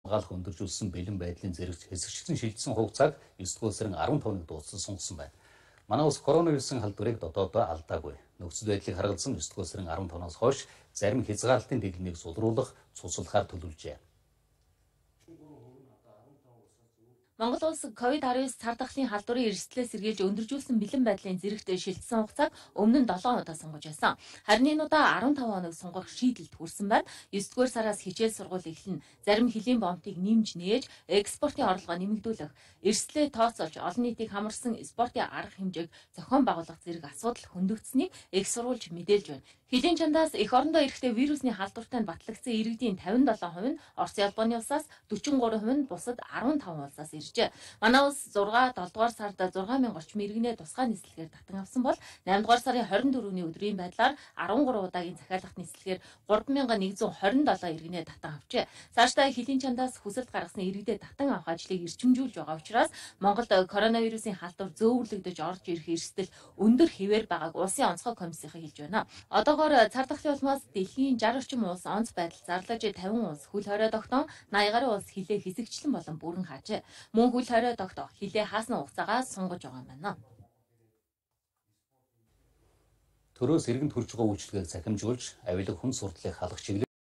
хамгаалах өндөржүүлсэн бэлэн байдлын зэрэгч хэсэгчлэн шилжсэн хугацааг 9 дугаар сарын 15-нд дууссан сунгасан байна. Манай улс коронавирусын халдварыг дотоодоо алдаагүй. Нөхцөл байдлыг харгалзан 9 дугаар сарын 15-наас хойш зарим хязгаарлалтын дэлгэрнийг сулруулах, цуцлахаар төлөвлөжээ. Монгол улс COVID-19 цар тахлын халдварын эрсдлээс сэргийлж өндөржүүлсэн бэлэн байдлын зэрэгт шилжсэн хугацааг өмнө нь 7 удаа сунгаж байсан. Харин энэ удаа 15 хоног сунгах шийдэлд хүрсэн байна. 9-р сараас хичээл сургууль эхэлнэ. Зарим хөлийн бомтыг нэмж нээж, экспортын орлогоо нэмэгдүүлэх, эрсдлээ тооцоолж олон нийтийг хамарсан спортын арга хэмжээг зохион байгуулах зэрэг асуудал хөндөгдсөнийг их сурвалж мэдээлж байна. Хөлийн чандаас эх орондоо эрэхтэй вирусны халдвартай батлагдсан иргэдийн 57% нь Орос Японы улсаас, 43% нь бусад 15 улсаас иржээ. Манай улс 6-7 дугаар сард 6000 орчим иргэнээ тусгай нислэгээр татан авсан бол 8 дугаар сарын 24-ний өдрийн байдлаар 13 удаагийн захиалгат нислэгээр 3127 иргэнээ татан авчээ. Цаашдаа хөлийн чандаас хүсэлт гаргасан иргэдээ татан авах ажлыг эрчимжүүлж байгаа учраас Монголд коронавирусын халдвар зөөвөрлөгдөж орж ирэх эрсдэл өндөр хэвээр байгааг улсын онцгой комиссийн хэлж байна. Одоогоор цар тахлын улмаас дэлхийн 60 орчим улс онц байдал зарлаж 50 улс хөл хорой тогтоон 80 гаруй улс хилээ хэсэгчлэн болон бүрэн хаажээ. Мөн хөл хорой тогтоо хилээ хаасна хугацаагаа сунгаж байгаа юм байна. Төрөөс иргэнд хүрч байгаа үйлчлэгийг цахимжуулж, авилга хүн сурдлыг халах чиглэл